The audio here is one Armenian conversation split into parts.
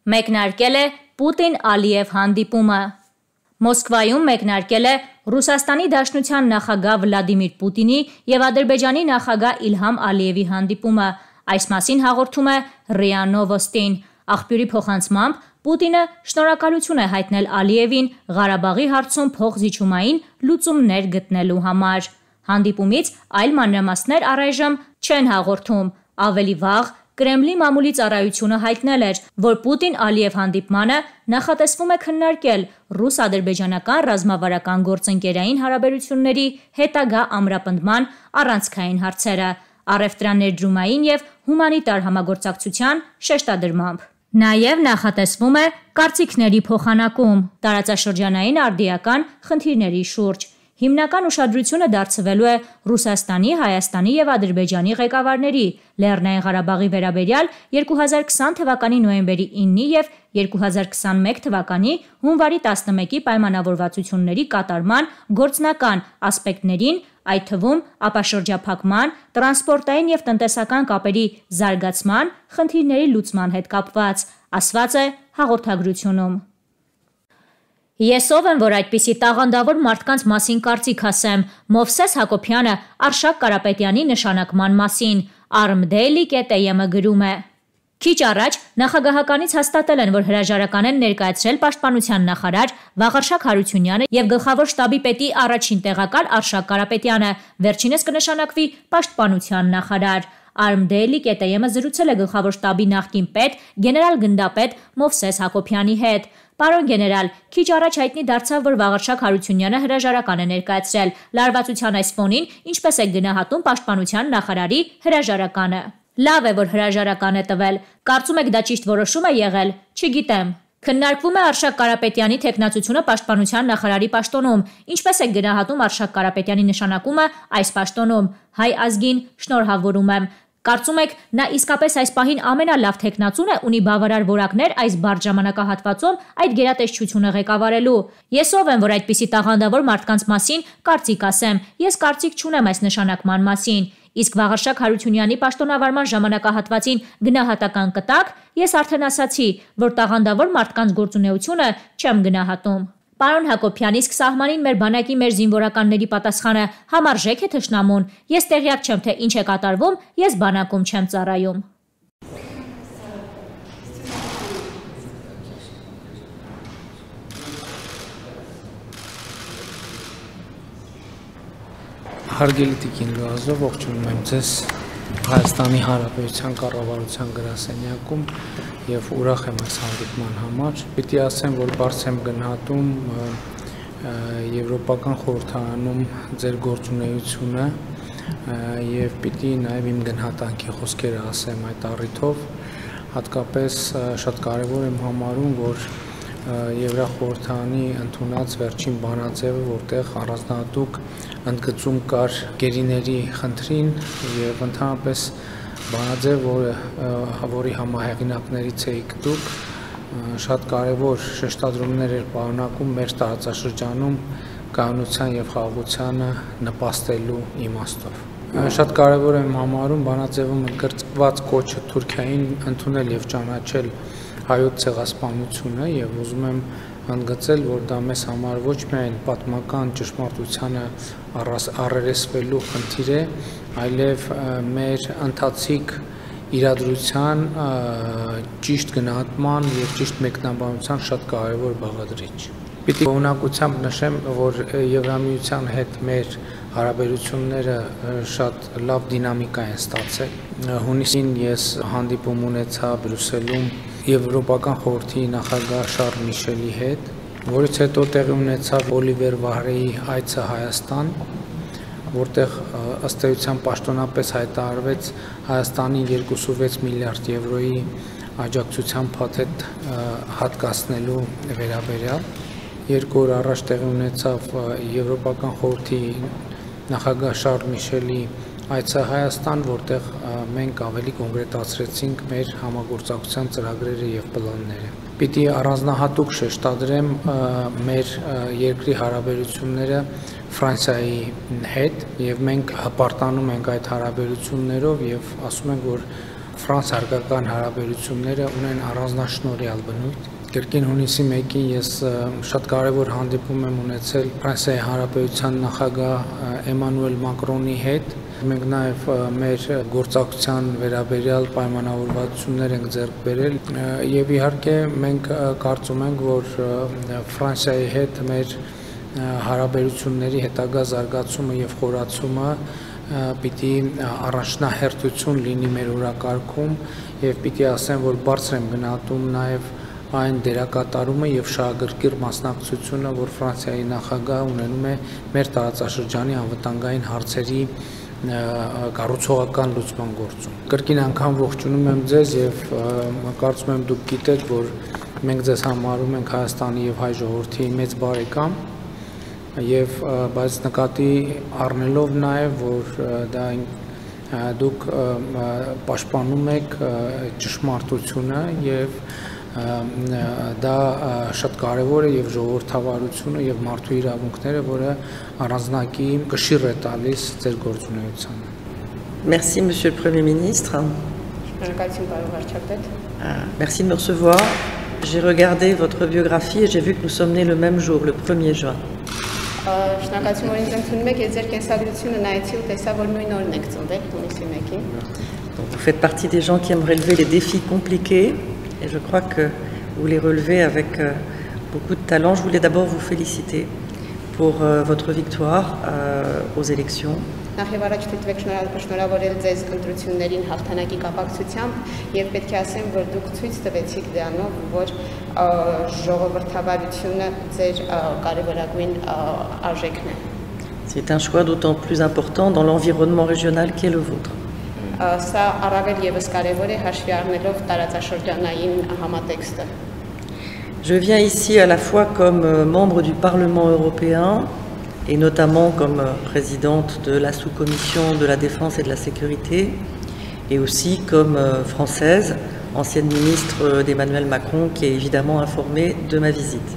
Մեկնարկել է Պուտին-Ալիև հանդիպումը։ Մոսկվայում մեկնարկել է Ռուսաստանի Դաշնության նախագահ Վլադիմիր Պուտինի և Ադրբեջանի նախագահ Իլհամ Ալիևի հանդիպումը։ Այս մասին հաղորդում է ՌԻԱ Նովոստին։ Աղբյուրի փոխանցմամբ Պուտինը շնորհակալություն է հայտնել Ալիևին Ղարաբաղի հարցում փոխզիջումային լուծումներ գտնելու համար։ Հանդիպումից այլ մանրամասներ առայժմ չեն հաղորդում։ Ավելի վաղ Կրեմլի մամուլի ծառայությունը հայտնել էր, որ Պուտին-Ալիև հանդիպմանը նախատեսվում է քննարկել ռուս-ադրբեջանական ռազմավարական գործընկերային հարաբերությունների հետագա ամրապնդման առանցքային հարցերը՝ առևտրաներդրումային և հումանիտար համագործակցության շեշտադրմամբ։ Նաև նախատեսվում է կարծիքների փոխանակում տարածաշրջանային արդիական խնդիրների շուրջ։ Հիմնական ուշադրությունը դարձվելու է Ռուսաստանի, Հայաստանի և Ադրբեջանի ղեկավարների Լեռնային Ղարաբաղի վերաբերյալ 2020 թվականի նոյեմբերի 9-ի և 2021 թվականի հունվարի 11-ի պայմանավորվածությունների կատարման գործնական ասպեկտներին, այդ թվում ապաշրջափակման, տրանսպորտային և տնտեսական կապերի զարգացման խնդիրների լուծման հետ կապված, ասված է հաղորդագրությունում։ Ես ով եմ, որ այդպիսի տաղանդավոր մարդկանց մասին կարծիք ասեմ, Մովսես Հակոբյանը Արշակ Կարապետյանի նշանակման մասին, Armdaily.am-ը գրում է. Քիչ առաջ նախագահականից հաստատել են, որ հրաժարական են ներկայացրել պաշտպանության նախարար Վաղարշակ Հարությունյանը և գլխավոր շտաբի պետի առաջին տեղակալ Արշակ Կարապետյանը, վերջինս կնշանակվի պաշտպանության նախարար։ Armdaily.am-ը զրուցել է գլխավոր շտաբի նախկին պետ գեներալ-գնդապետ Մովսես Հակոբյանի հետ։ Պարոն գեներալ, քիչ առաջ հայտնի դարձավ, որ Վաղարշակ Հարությունյանը հրաժարական է ներկայացրել։ Լարվածության այս ֆոնին ինչպես եք գնահատում պաշտպանության նախարարի հրաժարականը։ Լավ է, որ հրաժարական է տվել։ Կարծում եք դա ճիշտ որոշում է եղել։ Չգիտեմ։ Քննարկվում է Արշակ Կարապետյանի թեկնածությունը պաշտպանության նախարարի պաշտոնում։ Ինչպես եք գնահատում Արշակ Կարապետյանի նշանակումը այս պաշտոնում։ Հայ ազգին շնորհավորում եմ։ Կարծում եք նա իսկապես այս պահին ամենալավ թեկնածուն է, ունի բավարար որակներ այս բարդ ժամանակահատվածում այդ գերատեսչությունը ղեկավարելու։ Ես ով եմ, որ այդպիսի տաղանդավոր մարդկանց մասին կարծիք ասեմ։ Ես կարծիք չունեմ այս նշանակման մասին։ Իսկ Վաղարշակ Հարությունյանի պաշտոնավարման ժամանակահատվածին գնահատական կտաք, ես արդեն ասացի, որ տաղանդավոր մարդկանց գործունեությունը չեմ գնահատում։ Պարոն Հակոբյան, իսկ սահմանին մեր բանակի մեր զինվորականների պատասխանը համարժեք է թշնամուն։ Ես տեղյակ չեմ, թե ինչ է կատարվում, ես բանակում չեմ ծառայում։ Հարգելի տիկին Լուազով, ողջունում եմ ձեզ Հայաստանի Հանրապետության կառավարության գրասենյակում և ուրախ եմ այս հանդիպման համար։ Պիտի ասեմ, որ բարձր եմ գնահատում Եվրոպական խորհրդարանում ձեր գործունեությունը և պիտի նաև իմ գնահատանքի խոսքերը ասեմ այդ առիթով։ Հատկապես շատ կարևոր եմ համարում, որ Եվրախորհրդարանի ընդունած վերջին բանաձևը, որտեղ առանձնահատուկ ընդգծում կար գերիների խնդրին և ընդհանրապես բանաձև, որի համահեղինակներից էիք դուք, շատ կարևոր շեշտադրումներ էր պարունակում մեր տարածաշրջանում կայունության և խաղաղությանը նպաստելու իմաստով։ Շատ կարևոր եմ համարում բանաձևում ընդգծված կոչը Թուրքիային ընդունել և ճանաչել հայոց ցեղասպանությունը և ուզում եմ ընդգծել, որ դա մեզ համար ոչ միայն պատմական ճշմարտությանը առերեսվելու խնդիր է, այլև մեր ընթացիկ իրադրության ճիշտ գնահատման և ճիշտ մեկնաբանության շատ կարևոր բաղադրիչ։ Պիտի ունակությամբ նշեմ, որ Եվրամիության հետ մեր հարաբերությունները շատ լավ դինամիկա են ստացել։ Հունիսին ես հանդիպում ունեցա Բրյուսելում Եվրոպական խորհրդի նախագահ Շարլ Միշելի հետ, որից հետո տեղի ունեցավ Օլիվեր Վահրեի այցը Հայաստան, որտեղ ըստ էության պաշտոնապես հայտարարվեց Հայաստանին 2.6 միլիարդ եվրոյի աջակցության փաթեթ հատկացնելու վերաբերյալ։ 2 օր առաջ տեղի ունեցավ Եվրոպական խորհրդի նախագահ Շարլ Միշելի այցը Հայաստան, որտեղ մենք ավելի կոնկրետացրեցինք մեր համագործակցության ծրագրերը և պլանները։ Պիտի առանձնահատուկ շեշտադրեմ մեր երկրի հարաբերությունները Ֆրանսիայի հետ և մենք հպարտանում ենք այդ հարաբերություններով և ասում ենք, որ ֆրանս-հարգական հարաբերությունները ունեն առանձնաշնորհյալ բնույթ։ Կրկին հունիսի 1-ին ես շատ կարևոր հանդիպում եմ ունեցել Ֆրանսիայի Հանրապետության նախագահ Էմանուել Մակրոնի հետ։ Մենք նաև մեր գործակցության վերաբերյալ պայմանավորվածություններ ենք ձեռք բերել եւ իհարկե մենք կարծում ենք, որ Ֆրանսիայի հետ մեր հարաբերությունների հետագա զարգացումը եւ խորացումը պիտի առաջնահերթություն լինի մեր օրակարգում եւ պիտի ասեմ, որ բարձր եմ գնահատում նաեւ այն դերակատարումը եւ շահագրգիռ մասնակցությունը, որ Ֆրանսիայի նախագահը ունենում է մեր տարածաշրջանի անվտանգային հարցերի կառուցողական լուծման գործում։ Կրկին անգամ ողջունում եմ ձեզ եւ կարծում եմ դուք գիտեք, որ մենք ձեզ համարում ենք Հայաստանի եւ հայ ժողովրդի մեծ բարեկամ եւ բայց նկատի առնելով նաեւ, որ դա դուք պաշտպանում եք ճշմարտությունը եւ դա շատ կարևոր է եւ ժողովրդավարությունը եւ մարդու իրավունքները, որը առանձնակի կշիռ է տալիս ձեր գործունեությանը։ Merci Monsieur le Premier ministre. Merci de me recevoir. J'ai regardé votre biographie et j'ai vu que nous sommes nés le même jour, le 1er juin. Donc vous faites partie des gens qui aiment relever les défis compliqués. Et je crois que vous les relevez avec beaucoup de talent. Je voulais d'abord vous féliciter pour votre victoire aux élections. C'est un choix d'autant plus important dans l'environnement régional qui est le vôtre. Je viens ici à la fois comme membre du Parlement européen et notamment comme présidente de la sous-commission de la défense et de la sécurité et aussi comme française, ancienne ministre d'Emmanuel Macron, qui est évidemment informée de ma visite.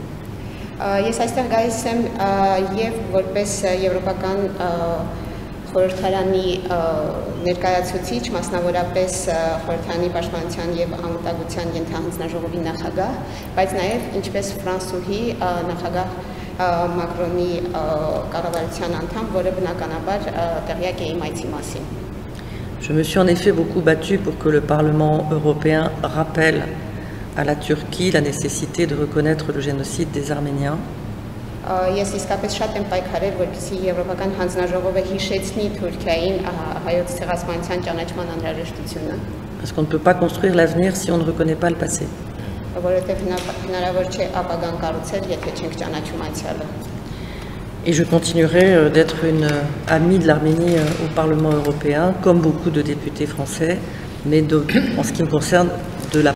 Խորհրդարանի ներկայացուցիչ, մասնավորապես խորհրդարանի պաշտպանության եւ անվտանգության ենթահանձնաժողովի նախագահ, բայց նաեւ ինչպես ֆրանսուհի նախագահ Մակրոնի կառավարության անդամ, որը բնականաբար տեղյակ է իմ այցի մասին։ Je me suis en effet beaucoup battue pour que le Parlement européen rappelle à la Turquie la nécessité de reconnaître le génocide des Arméniens. Ես իսկապես շատ եմ պայքարել, որպեսզի Եվրոպական հանձնաժողովը հիշեցնի Թուրքիային հայոց ցեղասպանության ճանաչման անհրաժեշտությունը։ Parce qu'on ne peut pas construire l'avenir si on ne reconnaît pas le passé. Որովհետև հնարավոր չէ ապագան կառուցել, եթե չենք ճանաչում անցյալը։ Et je continuerai d'être une amie de l'Arménie au Parlement européen, comme beaucoup de députés français, mais en ce qui me concerne,